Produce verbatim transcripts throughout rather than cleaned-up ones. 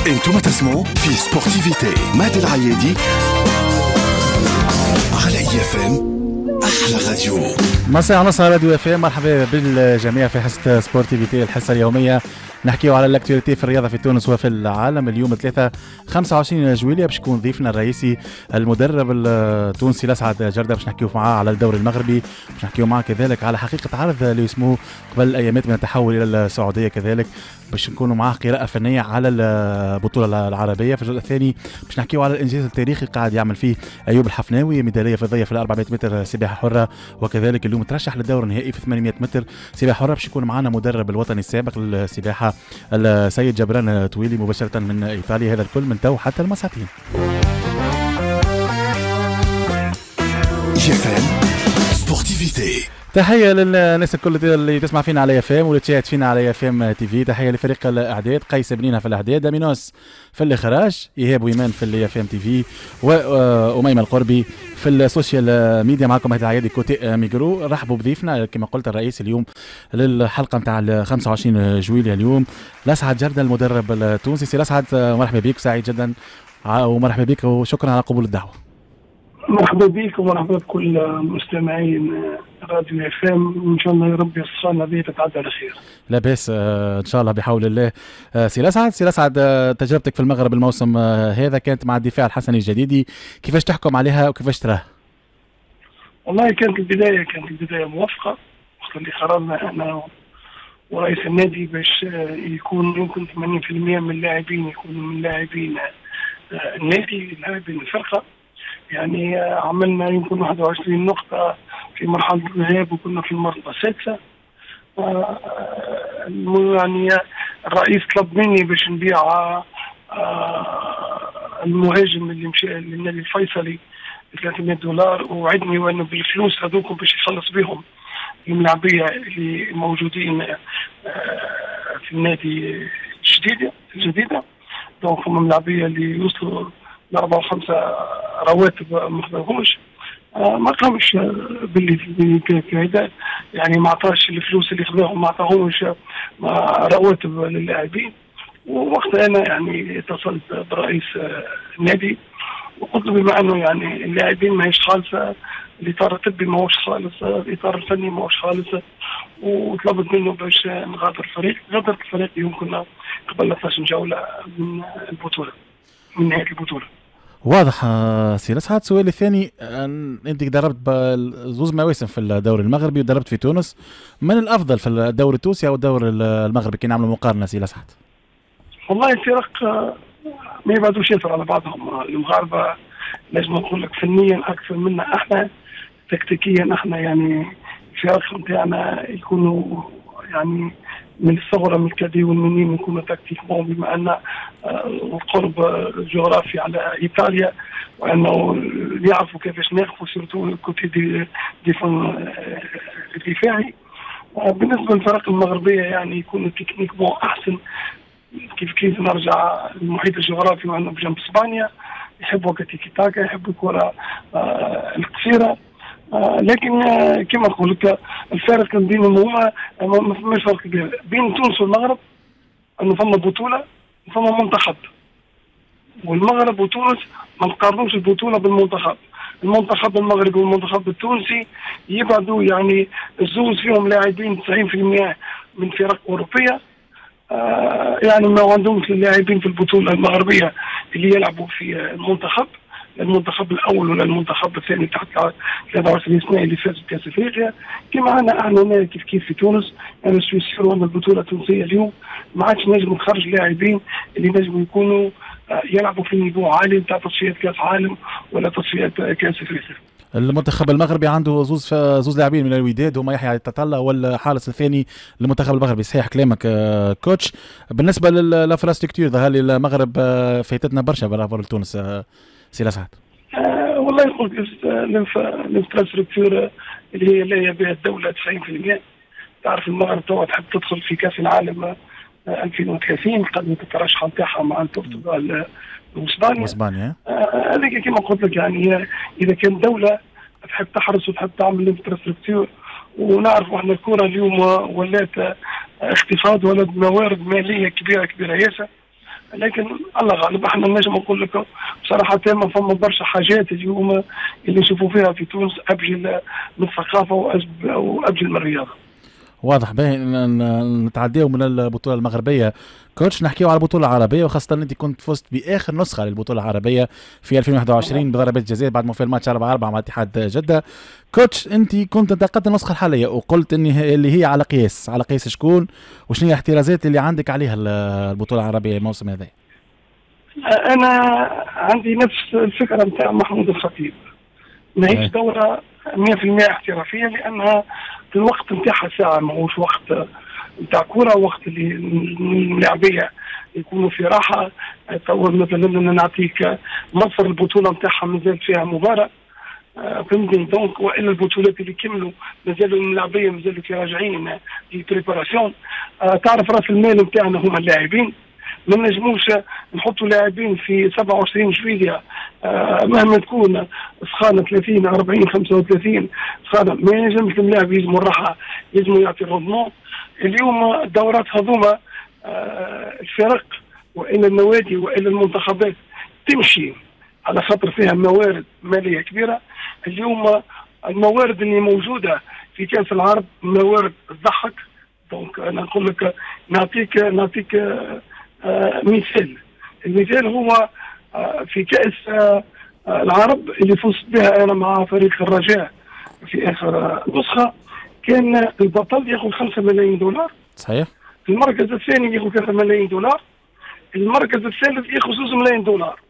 انتم تسمعوا في Sportivité مهدي العيادي على IFM احلى راديو. مساء ونص على راديو IFM، مرحبا بالجميع في حصة Sportivité، الحصة اليومية نحكيو على l'actualité في الرياضة في تونس وفي العالم. اليوم ثلاثة خمسة وعشرين جويلية باش يكون ضيفنا الرئيسي المدرب التونسي لسعد جردة، باش نحكيو معاه على الدوري المغربي، باش نحكيو معاه كذلك على حقيقة عرض اللي اسمه قبل ايامات من التحول الى السعودية، كذلك باش نكونوا معاه قراءة فنية على البطولة العربية. في الجزء الثاني باش نحكيو على الانجاز التاريخي قاعد يعمل فيه ايوب الحفناوي، ميدالية فضية في أربعمائة متر سباحة حره، وكذلك اليوم ترشح للدور النهائي في ثمانمائة متر سباحة حره. باش يكون معنا مدرب الوطني السابق للسباحه السيد جبران تويلي مباشرة من ايطاليا. هذا الكل من تو حتى المساعتين. Sportivité. تحية للناس الكل اللي تسمع فينا على IFM واللي تشاهد فينا على IFM TV. تحية لفريق الاعداد، قيس بنينه في الاعداد، امينوس في الاخراج، ايهاب ويمان في ال IFM TV، واميمه القربي في ال social media. معكم مهدي العيادي côté micro. رحبوا بضيفنا كما قلت الرئيس اليوم للحلقة نتاع خمسة وعشرين جويلية اليوم، لسعد جردة المدرب التونسي. سي لسعد مرحبا بك، سعيد جدا ومرحبا بك وشكرا على قبول الدعوة. مرحبا بك ومرحبا بكل مستمعين راديو IFM، وان شاء الله يا ربي الصالة هذه تتعدى على خير. لا باس ان شاء الله بحول الله. سي لسعد، سي لسعد تجربتك في المغرب الموسم هذا كانت مع الدفاع الحسني الجديدي، كيفاش تحكم عليها وكيفاش تراها؟ والله كانت البداية كانت البداية موفقة، وقت اللي قررنا انا ورئيس النادي باش يكون يمكن ثمانين بالمئة من اللاعبين يكونوا من لاعبين النادي، لاعبين الفرقة. يعني عملنا يمكن واحد وعشرين نقطة في مرحلة الذهاب وكنا في المرتبة السادسة. يعني الرئيس طلب مني باش نبيع المهاجم اللي مشى للنادي الفيصلي ب ثلاثمائة دولار، ووعدني وانه بالفلوس هذوك باش يخلص بهم الملاعبية اللي موجودين في النادي الجديدة الجديدة. donc هما الملاعبية اللي يوصلوا لأربعة وخمسة رواتب ما خذاهمش، ما قامش باللي كذا، يعني ما عطاش الفلوس اللي خذاهم، ما عطاهمش رواتب للاعبين. ووقتها انا يعني اتصلت برئيس النادي وقلت له بما انه يعني اللاعبين ماهيش خالصة، الاطار الطبي ماهوش خالص، الاطار الفني ماهوش خالص، وطلبت منه باش نغادر الفريق. غادرت الفريق يمكن قبل اثناش جولة من البطولة، من نهاية البطولة. واضح سي لسعد. السؤال الثاني، انت دربت زوز مواسم في الدوري المغربي ودربت في تونس، من الافضل في الدوري التونسي او الدوري المغربي كي نعملوا مقارنة سي لسعد؟ والله الفرق ما يبعدوش ياسر على بعضهم. المغاربة لازم نقول لك فنيا اكثر منا احنا، تكتيكيا احنا يعني الفرق نتاعنا يكونوا يعني من الصغرى من ال cadets وال minimes يكونوا tactiquement، بما ان القرب الجغرافي على ايطاليا وانه يعرفوا كيفاش ناقفوا surtout côté dé défense الدفاعي. بالنسبة للفرق المغربية يعني يكونوا techniquement احسن. كيف كيف نرجع للمحيط الجغرافي وانه بجنب اسبانيا يحبوا تيكي تاكا، يحبوا الكره القصيرة. آه لكن آه كما نقول لك الفارق بينهم هما ما فماش فرق كبير بين تونس والمغرب، انه فما بطوله وفما منتخب، والمغرب وتونس ما نقارنوش البطولة بالمنتخب. المنتخب المغربي والمنتخب التونسي يبعدوا يعني الزوز فيهم لاعبين تسعين بالمئة من فرق اوروبية، آه يعني ما عندهمش اللاعبين في البطولة المغربية اللي يلعبوا في المنتخب، المنتخب الاول ولا المنتخب الثاني تحت ثلاثة وعشرين سنة اللي فاز بكاس افريقيا. كما عندنا احنا كيف كيف في تونس، انا suis sûr ان البطولة التونسية اليوم ما عادش نجم نخرج لاعبين اللي نجموا يكونوا يلعبوا في niveau عالي نتاع تصفيات كاس عالم ولا تصفيات كاس افريقيا. المنتخب المغربي عنده زوز زوز لاعبين من الوداد، هما يحيى تطلع والحارس الثاني للمنتخب المغربي. صحيح كلامك coach. بالنسبة لل infrastructure ظهر لي المغرب فايتتنا برشا par rapport لتونس سي لسعد. آه والله نقول l'infrastructure اللي هي لاهية بها الدولة تسعين بالمئة. تعرف المغرب توا تحب تدخل في كاس العالم ألفين وثلاثين، قدمت الترشح نتاعها مع البرتغال واسبانيا. واسبانيا هذيك كما قلت لك يعني اذا كان دولة تحب تحرص وتحب تعمل infrastructure ونعرفوا احنا الكره اليوم ولات اقتصاد ولات موارد ماليه كبيرة كبيرة ياسر، لكن الله غالب احنا نجم نقول لك بصراحة تامة فما برشا حاجات اليوم اللي نشوفوا فيها في تونس ابجل من الثقافة وابجل من الرياضة. واضح. باهي نتعداو من البطولة المغربية coach، نحكيو على البطولة العربية، وخاصة انت كنت فزت باخر نسخه للبطولة العربية في ألفين وواحد وعشرين بضربات جزاء بعد ما في الماتش أربعة أربعة مع اتحاد جده. coach انت كنت انتقدت النسخة الحالية وقلت ان اللي هي على قياس، على قياس شكون وشنو هي الاحترازات اللي عندك عليها البطولة العربية الموسم هذا؟ انا عندي نفس الفكرة نتاع محمود الخطيب، ماهيش دوره مية في المية احترافية، لانها الوقت نتاعها ساعة ماهوش وقت نتاع كره، وقت اللي الملاعبيه يكونوا في راحة. تو مثلا نعطيك مصر البطولة نتاعها مازال فيها مباراة، فهمتني؟ donc والا البطولات اللي كملوا مازالوا الملاعبيه مازالوا كي راجعين في préparation. تعرف راس المال نتاعنا هما اللاعبين، ما نجموش نحطوا لاعبين في سبعة وعشرين جويلية مهما تكون سخانه ثلاثين أربعين خمسة وثلاثين سخانه، ما ينجمش اللاعب، يلزموا الراحة، يلزموا يعطي ال rendement. اليوم الدورات هذوما الفرق والا النوادي والا المنتخبات تمشي على خاطر فيها موارد ماليه كبيرة. اليوم الموارد اللي موجودة في كاس العرب موارد تضحك. donc انا نقول لك نعطيك نعطيك آه مثال، المثال هو آه في كأس آه العرب اللي فزت بها أنا مع فريق الرجاء في آخر نسخة، كان البطل ياخذ خمسة ملايين دولار. صحيح. المركز الثاني ياخذ ثلاثة ملايين دولار، المركز الثالث ياخذ زوج ملايين دولار.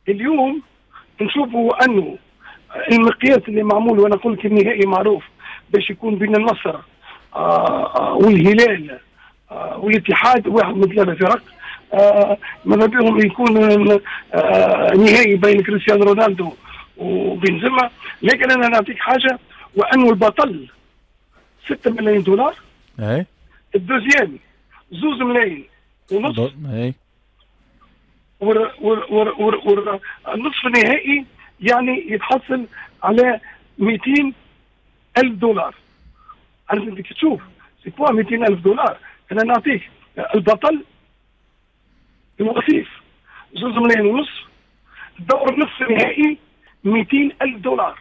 اليوم نشوفوا أنه المقياس اللي معمول، وأنا قلت النهائي معروف باش يكون بين النصر آه والهلال آه والاتحاد، واحد من ثلاثة فرق، آه ماذا بهم يكون آه نهائي بين كريستيانو رونالدو وبنزيما. لكن انا نعطيك حاجة، وانه البطل ستة ملايين دولار، اي ال deuxième زوز ملايين ونص، اي والنصف النهائي يعني يتحصل على مئتين ألف دولار. عارف انت تشوف c'est quoi مئتين ألف دولار؟ انا نعطيك البطل الوصيف زوز ملايين ونص، الدور نصف النهائي مئتين ألف دولار،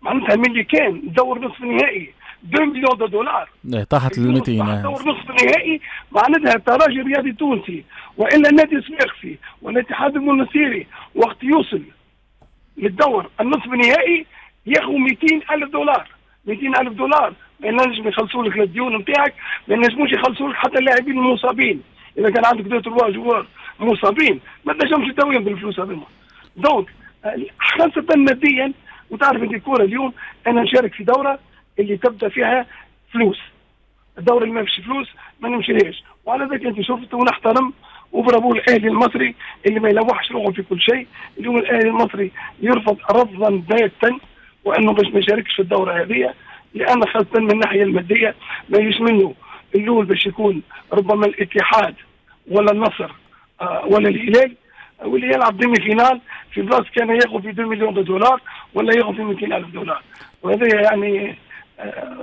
معناتها من اللي كان دور نصف النهائي اثنين مليون دولار طاحت لل مئتين. دور نصف النهائي معناتها الترجي الرياضي التونسي والا النادي الصفاقسي والاتحاد المنستيري وقت يوصل للدور النصف النهائي ياخذ مئتين ألف دولار. مئتين ألف دولار ما ينجم يخلصوا لك الديون نتاعك، ما ينجموش يخلصوا لك حتى اللاعبين المصابين. اذا كان عندك deux trois joueurs مصابين ما تنجمش تداويهم بالفلوس هذوما. donc خاصة ماديا، وتعرف انت الكورة اليوم انا نشارك في دوره اللي تبدا فيها فلوس، الدورة اللي ما فيش فلوس ما نمشيلهاش. وعلى ذلك انت شفت، ونحترم وبرافو الاهلي المصري اللي ما يلوحش روحه في كل شيء. اليوم الاهلي المصري يرفض رفضا باتا وانه باش ما يشاركش في الدورة هذه، لان خاصة من الناحية المادية ما يجيش منه الاول باش يكون ربما الاتحاد ولا النصر ولا الهلال واللي يلعب demi-finale في بلاصة كان ياخذ في اثنين مليون دولار ولا ياخذ في مئتين ألف دولار، وهذا يعني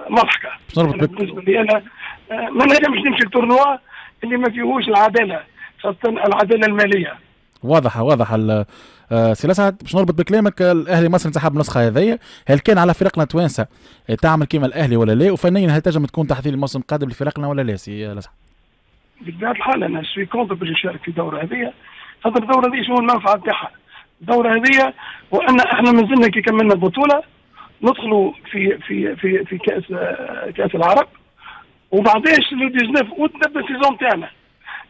مضحكة. بالنسبة لي انا ما نجمش نمشي ال tournoi اللي ما فيهوش العدالة، خاصة العدالة المالية. واضحة واضحة. سي لسعد، باش نربط بكلامك، الاهلي المصري انسحب من النسخة هذيا، هل كان على فرقنا توانسة تعمل كيما الاهلي ولا لا؟ وفنيا هل تنجم تكون تحضير الموسم القادم لفرقنا ولا لا سي لسعد؟ بطبيعة الحال انا suis contre باش نشارك في الدورة هذيا، خاطر الدورة هذه شنو المنفعة نتاعها؟ الدورة هذه وان احنا مازلنا كي كملنا البطولة ندخلوا في في في في كاس كاس العرب، وبعداش le تسعطاش اوت نبدا ال saison تاعنا.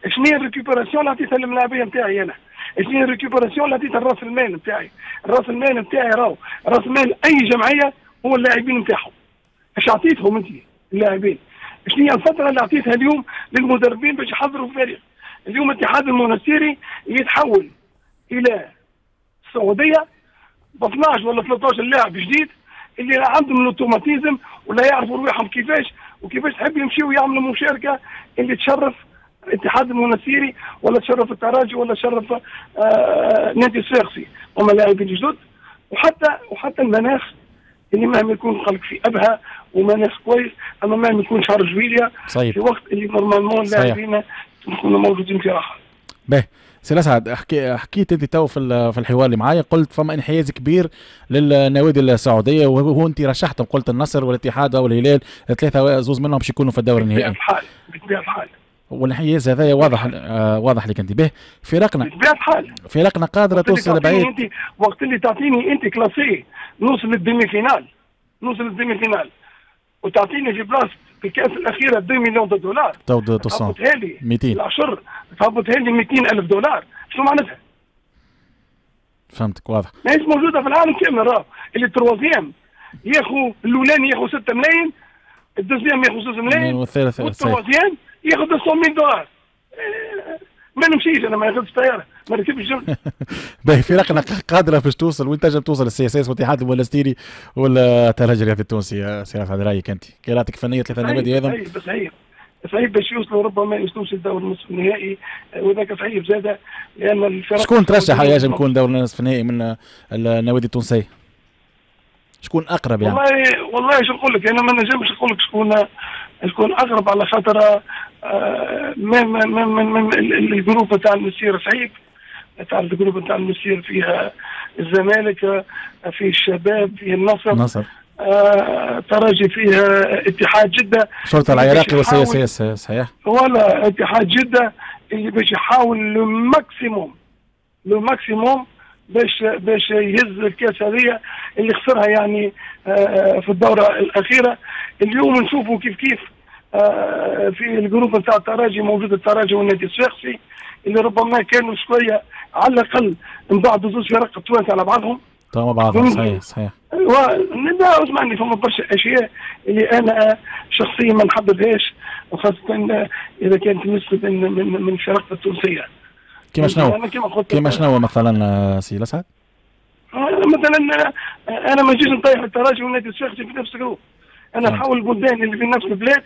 شنو هي ال récupération اللي عطيتها للملاعبيه نتاعي انا؟ شنو هي ال récupération اللي عطيتها لراس المال نتاعي؟ راس المال نتاعي راهو راس المال اي جمعية هو اللاعبين نتاعهم. اش عطيتهم انت اللاعبين؟ شنو هي الفترة اللي عطيتها اليوم للمدربين باش يحضروا الفريق؟ اليوم الاتحاد المونستيري يتحول الى السعودية ب اثناش ولا ثلاثطاش لاعب جديد اللي لا عندهم ال automatisme ولا يعرفوا رواحهم كيفاش وكيفاش تحب يمشيوا يعملوا مشاركة اللي تشرف الاتحاد المونستيري ولا تشرف الترجي ولا تشرف آه نادي الصفاقسي. هما لاعبين جدد، وحتى وحتى المناخ اللي مهما يكون قالك في ابها ومناخ كويس، اما مهما يكون شهر جويليا صحيح. في وقت اللي normalement اللاعبين يكونوا موجودين في راحة. باهي سي الاسعد، حكي حكيت انت تو في في الحوار اللي معايا، قلت فما انحياز كبير للنوادي السعودية، وهو انت رشحتهم، قلت النصر والاتحاد والهلال، ثلاثة زوز منهم باش يكونوا في الدور النهائي. بطبيعة الحال بطبيعة الحال والانحياز هذايا واضح آه واضح لك انت به. فرقنا بطبيعة الحال فرقنا قادرة توصل بعيد. انت وقت اللي تعطيني انت classé نوصل لل demi-finale، نوصل لل demi-finale وتعطيني في بلاصة في الكاس الاخيرة اثنين مليون دولار، تهبطها لي مئتين العشر، تهبطها لي مئتين الف دولار، شنو معناتها؟ فهمتك واضح. ماهيش موجودة في العالم كامل، راه اللي troisième ياخذ الاولاني ياخذ ستة ملايين، ال deuxième ياخذ زوج ملايين، والثالث وال troisième ياخذ مئتين دولار. ما نمشيش انا، ما ناخذش طيارة، ما نركبش جمل. باهي فرقنا قادرة باش توصل، وين تنجم توصل ال CSS والاتحاد المونستيري ولا الترجي الرياضي التونسي؟ سي هذا رايك انت، قراءتك فنية ثلاثة النوادي هذا؟ صعيب صعيب صعيب باش يوصلوا، ربما يوصلوش للدور النصف النهائي، وذاك صعيب زاده لان الفرق. شكون ترشح ينجم يكون دور النصف النهائي من النوادي التونسية؟ شكون اقرب يعني؟ والله والله شو نقول لك، انا ما نجمش نقول لك شكون شكون اقرب، على خاطر ما ما ما ما ال groupe تاع المسير صعيب. تعرف ال groupe تاع المسير فيها الزمالك، فيه الشباب، فيه النصر، النصر آه، ترجي، فيها اتحاد جده، شرطه العراقي وال CSS صحيح، ولا اتحاد جده اللي باش يحاول le maximum le maximum باش باش يهز الكاس هذه اللي خسرها يعني آه في الدورة الاخيرة. اليوم نشوفوا كيف كيف آه في ال groupe نتاع الترجي موجود الترجي والنادي الصفاقسي اللي ربما كانوا شوية على الاقل من بعد زوج فرق التوانسة على بعضهم مع بعضهم. صحيح صحيح. لا اسمعني، فما برشا اشياء اللي انا شخصيا ما نحبذهاش، وخاصة اذا كانت تمس من من من الفرق التونسية. كيما شنو؟ كيما شنو مثلا سي لسعد؟ مثلا انا ما نجيش نطيح الترجي والنادي الصفاقسي في نفس ال groupe، انا نحاول البلدان اللي في نفس البلاد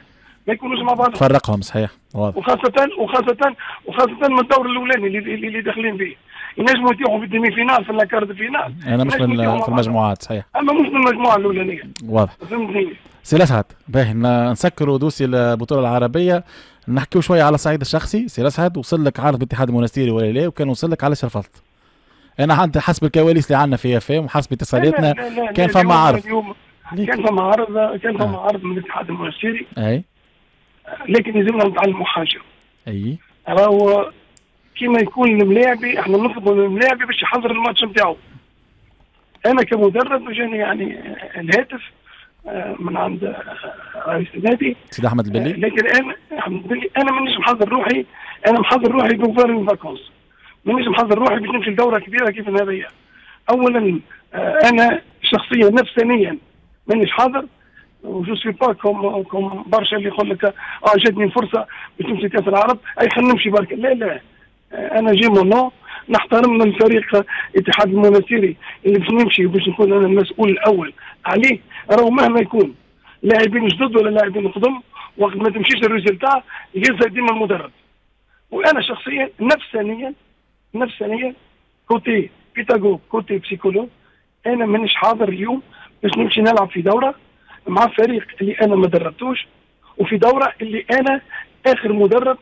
ما يكونوش مع بعضهم. فرقهم صحيح واضح. وخاصة وخاصة وخاصة من الدور الاولاني اللي اللي داخلين فيه، ينجموا يطيحوا في ال demi-finale في la quart de finale. انا مش من في المجموعات صحيح. اما مش من المجموعة الاولانية. واضح. فهمتني؟ سي لسعد، باهي نسكروا dossier البطولة العربية، نحكيو شوية على الصعيد الشخصي. سي لسعد، وصل لك عرض بالاتحاد المونستيري ولا لا؟ وكان وصل لك علاش رفضت؟ انا عندي حسب الكواليس اللي عندنا في اف ام وحسب اتصالاتنا كان فما عرض. كان فما عرض، كان فما عرض من الاتحاد المونستيري. اي لكن لازمنا نتعلموا حاجة. اي راهو كيما يكون الملاعبي، احنا نطلبوا من الملاعبي باش يحضر الماتش نتاعو. انا كمدرب جاني يعني الهاتف من عند رئيس النادي سيد احمد البلي، لكن انا احمد البلي انا مانيش محضر روحي، انا محضر روحي pour faire une vacances، مانيش محضر روحي باش نمشي لدوره كبيرة كيف هذيا. اولا انا شخصيا نفسانيا مانيش حاضر، و je suis pas comme comme برشا اللي يقول لك اه جاتني فرصة باش نمشي كاس العرب، اي خلينا نمشي برك. لا لا، انا j'ai mon nom، نحترم الفريق الاتحاد المونستيري اللي باش نمشي وباش نكون انا المسؤول الاول عليه. راهو مهما يكون لاعبين جدد ولا لاعبين قدم، وقت ما تمشيش ال résultat يهزها ديما المدرب. وانا شخصيا نفسانيا نفسانيا côté pédagogue côté psychologue، انا مانيش حاضر اليوم باش نمشي نلعب في دوره مع فريق اللي انا ما دربتوش، وفي دوره اللي انا اخر مدرب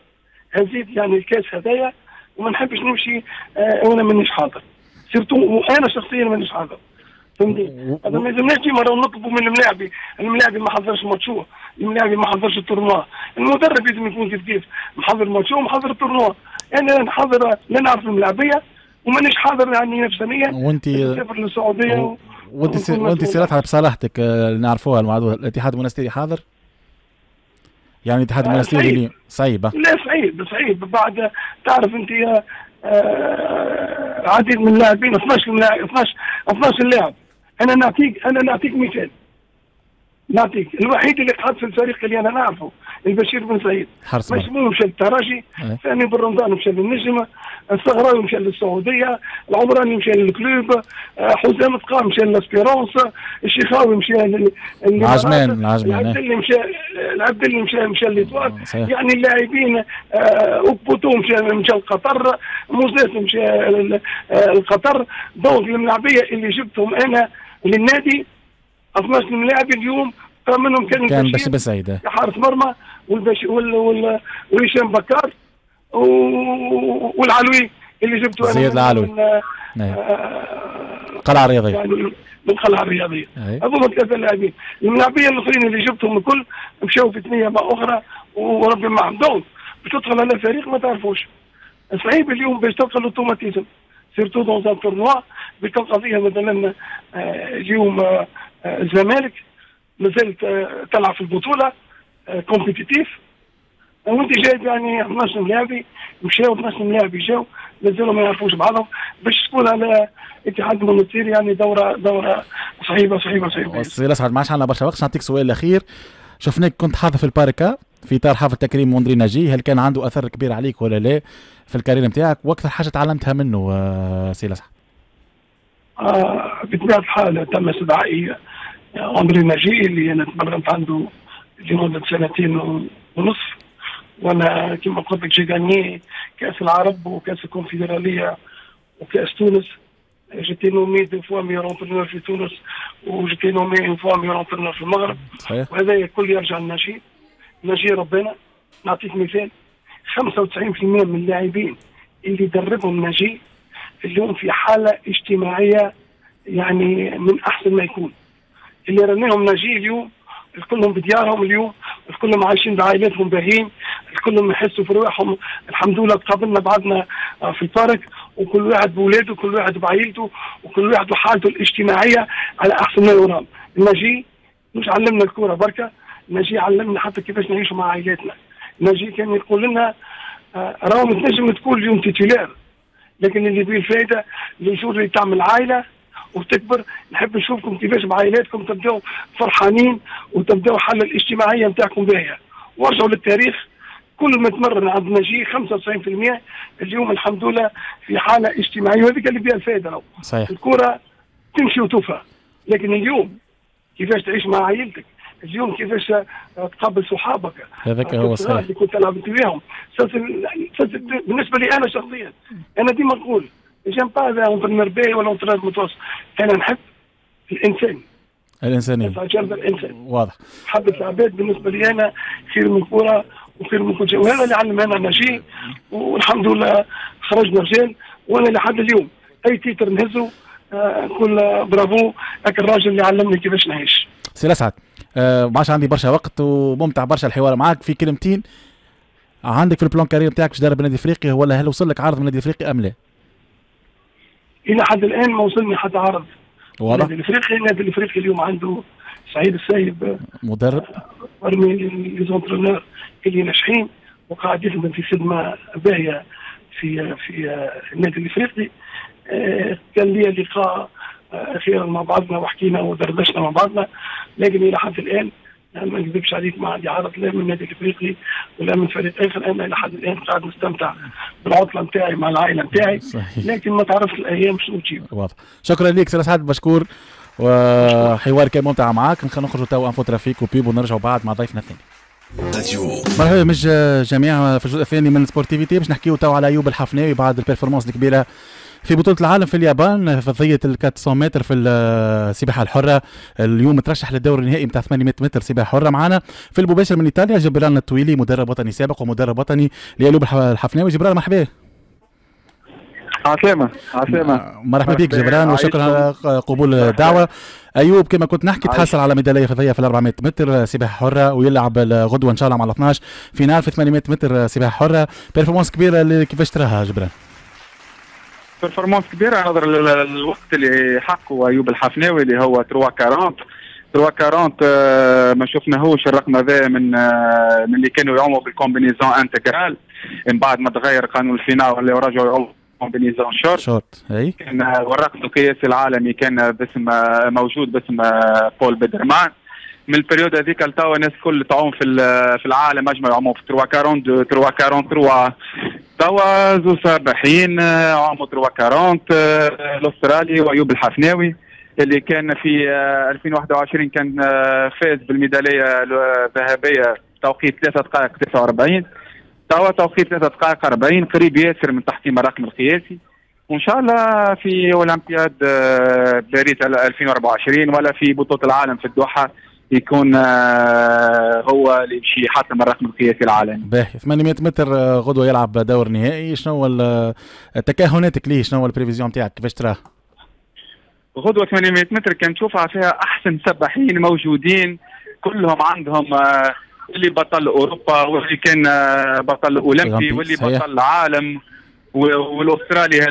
هزيت يعني الكاس هذايا، وما نحبش نمشي آه وانا مانيش حاضر، surtout وانا شخصيا مانيش حاضر. فهمتني؟ هذا ما يلزمناش ديما نطلبوا من الملاعبي، الملاعبي ما حضرش ماتشو، الملاعبي ما حضرش ال tournoi، المدرب لازم يكون كيف كيف محضر ماتشو ومحضر ال tournoi. انا نحضر لا نعرف الملاعبيه ومانيش حاضر يعني نفسانيا. وانت نسافر للسعودية و... وانت سي... وانت سيرتها بصلاحتك اللي نعرفوها المعروفة، الاتحاد المونستيري حاضر؟ يعني الاتحاد المونستيري اللي صعيبة؟ لا صعيب صعيب بعد تعرف انت آه عديد من اللاعبين اثناش لاعب اثناش اثناش لاعب. انا نعطيك انا نعطيك مثال، نعطيك الوحيد اللي قعد في الفريق اللي انا نعرفه البشير بن سعيد، مشموم مشى للترجي، ثاني بن رمضان مشى للنجمه، الصغراوي مشى للسعودية، العمراني مشى لل Club، حسام تقام مشى لل Espérance، الشيخاوي مشى لل العجمان العجمان العبدلي مشى العبدلي مشى مشى l'Étoile. يعني اللاعبين اوبوتو مشى مشى لقطر، موزاس مشى لقطر. donc الملاعبيه اللي جبتهم انا للنادي اثناش ملاعب اليوم منهم كان كان بشير بسعيد حارس مرمى والبش وال وال وهشام بكار والعلوي اللي جبته انا زياد العلوي آه قلعه رياضية يعني من قلعه الرياضية. هذوما ثلاثة لاعبين، الملاعبيه الاخرين اللي جبتهم الكل مشاو في ثنيه مع اخرى وربي معهم. donc باش تدخل على فريق ما تعرفوش صعيب اليوم باش تلقى l'automatisme surtout dans un tournoi باش تلقى فيها مثلا اليوم الزمالك مازالت تلعب في البطولة compétitif وانت جايب يعني اثناش ملاعبي مشاو اثناش ملاعبي جاو مازالوا ما يعرفوش بعضهم باش تكون على اتحاد المنستير يعني دوره دوره صعيبة صعيبة صعيبة. سي الاسعد ما عادش عندنا برشا وقت، نعطيك سؤال اخير. شفناك كنت حاضر في ال parc في اطار حفل تكريم اندري ناجي، هل كان عنده اثر كبير عليك ولا لا في ال carrière نتاعك، واكثر حاجة تعلمتها منه سي الاسعد؟ آه بطبيعة الحال تم استدعائي اندري ناجي اللي انا تمرنت عنده لمدة سنتين ونصف، وانا كما قلت لك j'ai gagné كاس العرب وكاس الكونفدراليه وكاس تونس. j'étais nommé deux fois meilleur entraîneur في تونس و j'étais nommé une fois meilleur entraîneur في المغرب. صحيح. وهذا الكل يرجع للناجي. ناجي ربنا نعطيك مثال، خمسة وتسعين بالمئة من اللاعبين اللي دربهم ناجي اليوم في حاله اجتماعية يعني من احسن ما يكون. اللي رميهم ناجي اليوم الكلهم بديارهم، اليوم الكلهم عايشين بعائلاتهم باهين، الكلهم يحسوا في رواحهم الحمد لله. تقابلنا بعضنا في ال parc وكل واحد بولاده وكل واحد بعائلته وكل واحد وحالته الاجتماعية على احسن ما يرام. ناجي مش علمنا الكورة بركة، ناجي علمنا حتى كيفاش نعيشوا مع عائلاتنا. ناجي كان يقول لنا راهو تنجم تكون اليوم titulaire، لكن اللي فيه الفائدة le jour اللي تعمل عائلة وتكبر نحب نشوفكم كيفاش بعائلاتكم تبداو فرحانين وتبداو الحالة الاجتماعية نتاعكم باهيه. وارجعوا للتاريخ، كل ما تمرن عند ناجي خمسة وتسعين بالمئة اليوم الحمد لله في حاله اجتماعية، وهذيك اللي فيها الفائدة. لو صحيح الكره تمشي وتوفى، لكن اليوم كيفاش تعيش مع عائلتك، اليوم كيفاش تقابل صحابك، هذاك هو صحيح اللي كنت تلعب انت وياهم. بالنسبة لي انا شخصيا انا ديما نقول j'aime pas entraîneur باهي ولا entraîneur متوسط، انا نحب الانسان، الانسانية، الانسان واضح. حبه العباد بالنسبة لي انا خير من كورة وخير من كل شيء، وهذا اللي علمنا ناجي والحمد لله خرجنا رجال. وانا لحد اليوم اي titre نهزه آه نقول برافو هاك الراجل اللي علمني كيفاش نعيش. سي الاسعد آه ما عادش عندي برشا وقت وممتع برشا الحوار معاك. في كلمتين عندك في ال plan carrière نتاعك باش تدرب النادي الافريقي، ولا هل وصل لك عرض من النادي الافريقي ام لا؟ الى حد الان ما وصلني حتى عرض. واضح. النادي الافريقي النادي الافريقي اليوم عنده سعيد السايب مدرب parmi les entraîneurs اللي ناجحين وقاعد يخدم في خدمة باهيه في في النادي الافريقي. كان لي لقاء اخيرا مع بعضنا وحكينا ودردشنا مع بعضنا، لكن الى حد الان ما نكذبش عليك ما عندي عرض لا من النادي الافريقي ولا من فريق اخر. انا الى حد الان قاعد نستمتع بالعطله نتاعي مع العائلة نتاعي، لكن ما تعرفش الايام شنو تجيب. واضح. شكرا لك سي اسعد مشكور، وحوار كان ممتع معاك. نخرجوا تو info trafic و pub ونرجعوا بعد مع ضيفنا الثاني. مرحبا مش جميع في الجزء الثاني من Sportivité باش نحكيو تو على ايوب الحفناوي بعد ال performance الكبيرة في بطولة العالم في اليابان في فضية ال أربعمية متر في السباحة الحرة. اليوم ترشح للدور النهائي نتاع ثمانمية متر سباحة حرة. معنا في المباشر من ايطاليا جبران الطويلي، مدرب وطني سابق ومدرب وطني لأيوب الحفناوي. جبران مرحبا. عسلامة عسلامة، مرحبا بك جبران وشكرا على قبول الدعوة. أيوب كما كنت نحكي تحصل على ميدالية فضية في أربعمية متر سباحة حرة ويلعب غدوة إن شاء الله مع الاثناش finale في ثمانمية متر سباحة حرة. performance كبيرة كيفاش تراها جبران؟ performance كبيرة نظرا للوقت اللي حقه ايوب الحفناوي اللي هو ثلاثة وأربعين ثلاثة وأربعين ما شفناهوش الرقم هذا من من اللي كانوا يعوموا بال combinaison intégrale. من بعد ما تغير قانون ال FINA ولاو رجعوا يعوموا combinaison short short اي كان والرقم القياسي العالمي كان باسم موجود باسم بول بيدرمان. من ال période هذيك لتوا الناس الكل تعوم في في العالم اجمع يعوموا في ثلاثة وأربعين ثلاثة وأربعين ثلاثة. توا زوز سباحين عاموا ثلاثة وأربعين الاسترالي وايوب الحفناوي اللي كان في ألفين وواحد وعشرين كان فاز بالميداليه الذهبية توقيت ثلاثة دقائق تسعة وأربعين. توا توقيت ثلاثة دقائق أربعين، قريب ياسر من تحطيم الرقم القياسي. وان شاء الله في اولمبياد باريس ألفين وأربعة وعشرين ولا في بطوله العالم في الدوحة يكون هو اللي باش يحطم الرقم القياسي العالمي. باهي، ثمانمية متر غدوه يلعب دور نهائي، شنو تكهناتك ليه؟ شنو ال prévision نتاعك كيفاش تراه؟ غدوه ثمانمية متر كان تشوفها فيها احسن سباحين موجودين، كلهم عندهم اللي بطل اوروبا واللي كان بطل اولمبي واللي بطل العالم، والاسترالي هذا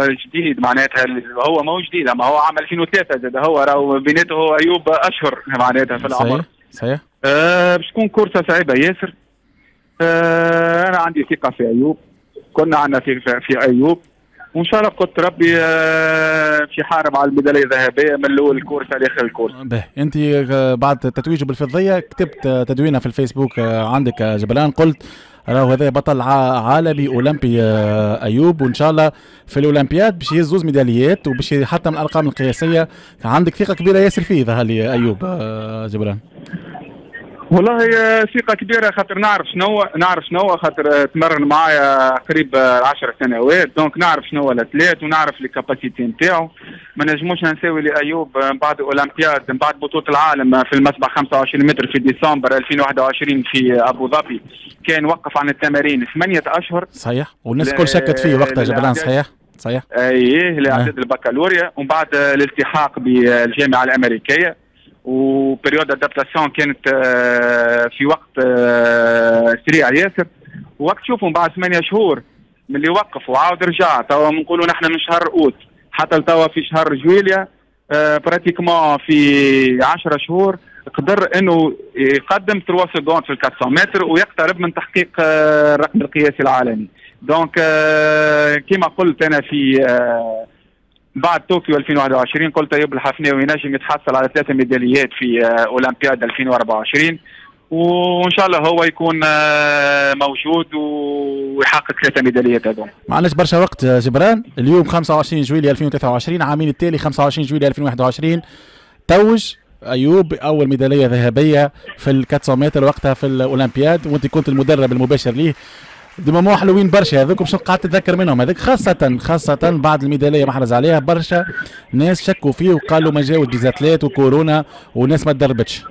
الجديد معناتها هو ما هو جديد، اما هو عام ألفين وثلاثة زاد هو راهو بيناته هو ايوب اشهر معناتها في العمر. صحيح صحيح. آه باش تكون كورسه صعيبة ياسر. آه انا عندي ثقة في ايوب، كنا عندنا ثقة في ايوب، وان شاء الله قلت ربي آه في حارب على الميداليه الذهبية من الاول الكورسه لاخر الكورس. باهي، انت بعد تتويجه بالفضيه كتبت تدوينه في الفيسبوك عندك جبران، قلت راهو هذا بطل عالمي اولمبي ايوب، وان شاء الله في الاولمبياد باش يهز زوز ميداليات وباش يحطم الارقام القياسية. عندك ثقة كبيرة ياسر فيه ظهر لي ايوب جبران. والله ثقة كبيرة، خاطر نعرف شنو نعرف شنو خاطر تمرن معايا قريب عشر سنوات، donc نعرف شنو l'athlète ونعرف les capacités نتاعو. ما نجموش نساوي لايوب من بعد اولمبياد، من بعد بطوله العالم في المسبح خمسة وعشرين متر في ديسمبر ألفين وواحد وعشرين في ابو ظبي، كان وقف عن التمارين ثمانية اشهر. صحيح، والناس الكل شكت فيه وقتها جبران. صحيح صحيح. ايه، لاعداد البكالوريا ومن بعد الالتحاق بالجامعة الامريكية، و période d'adaptation كانت في وقت سريع ياسر. وقت شوفوا بعد ثمانية شهور من اللي وقف وعاود رجع، توا نقولوا نحن من شهر اوت حتى لتوا في شهر جويليا، pratiquement في عشرة شهور قدر انه يقدم ثلاثة secondes في أربعمية متر ويقترب من تحقيق الرقم القياسي العالمي. donc كما قلت انا في بعد طوكيو ألفين وواحد وعشرين قلت ايوب الحفناوي ينجم يتحصل على ثلاثة ميداليات في اولمبياد ألفين وأربعة وعشرين، وان شاء الله هو يكون موجود ويحقق ثلاثة ميداليات هذوما. ما عندناش برشا وقت جبران، اليوم خمسة وعشرين جويلية ألفين وثلاثة وعشرين، عامين التالي خمسة وعشرين جويلية ألفين وواحد وعشرين توج ايوب اول ميدالية ذهبية في ال أربعمية متر وقتها في الاولمبياد، وانت كنت المدرب المباشر ليه. des moments حلوين برشا هذوك، باش قعدت تتذكر منهم هذاك، خاصة خاصة بعد الميدالية محرز عليها برشا ناس شكوا فيه وقالوا ما جاوش des athlètes وكورونا وناس ما تدربتش.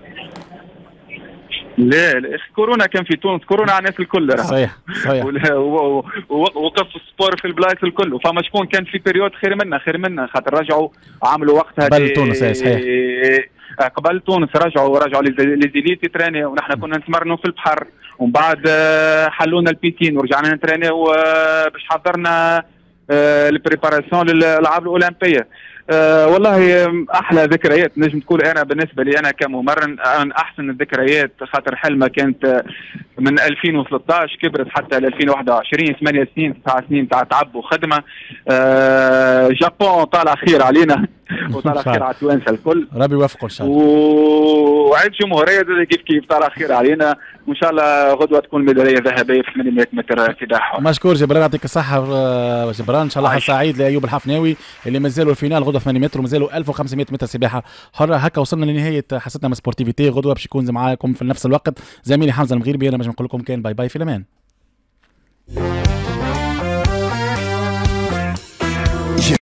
لا لا، كورونا كان في تونس، كورونا على الناس الكل. صحيح صحيح. وقف ال sport في البلايص الكل، وفما شكون كان في période خير منا خير منا خاطر رجعوا عملوا وقتها قبل تونس. صحيح، قبل تونس رجعوا رجعوا les élites يترينيو، ونحن كنا نتمرنوا في البحر، ومن بعد حلونا ال piscine ورجعنا نترينيو باش حضرنا ال préparation للالعاب الاولمبية. أه والله احلى ذكريات نجم تقول انا بالنسبة لي انا كممرن، من احسن الذكريات، خاطر حلمه كانت من ألفين وثلاثة عشر كبرت حتى ل ألفين وواحد وعشرين، ثمانية سنين تسع سنين تاع تعب وخدمه. أه Japon طالع خير علينا وطالع خير على التوانسة الكل، ربي يوفقه ان شاء الله. وعيد جمهورية كيف كيف طالع خير علينا، وان شاء الله غدوه تكون ميدالية ذهبية في ثمانمية متر سباحة. مشكور جبران، يعطيك الصحة جبران. ان شاء الله سعيد لايوب الحفناوي اللي مازالوا ال finale غدوه ثمانمية متر ومازالوا ألف وخمسمية متر سباحة حره. هكا وصلنا لنهاية حصتنا من Sportivité. غدوه باش يكون معاكم في نفس الوقت زميلي حمزة المغيربي. انا باش نقول لكم كان bye bye في الامان.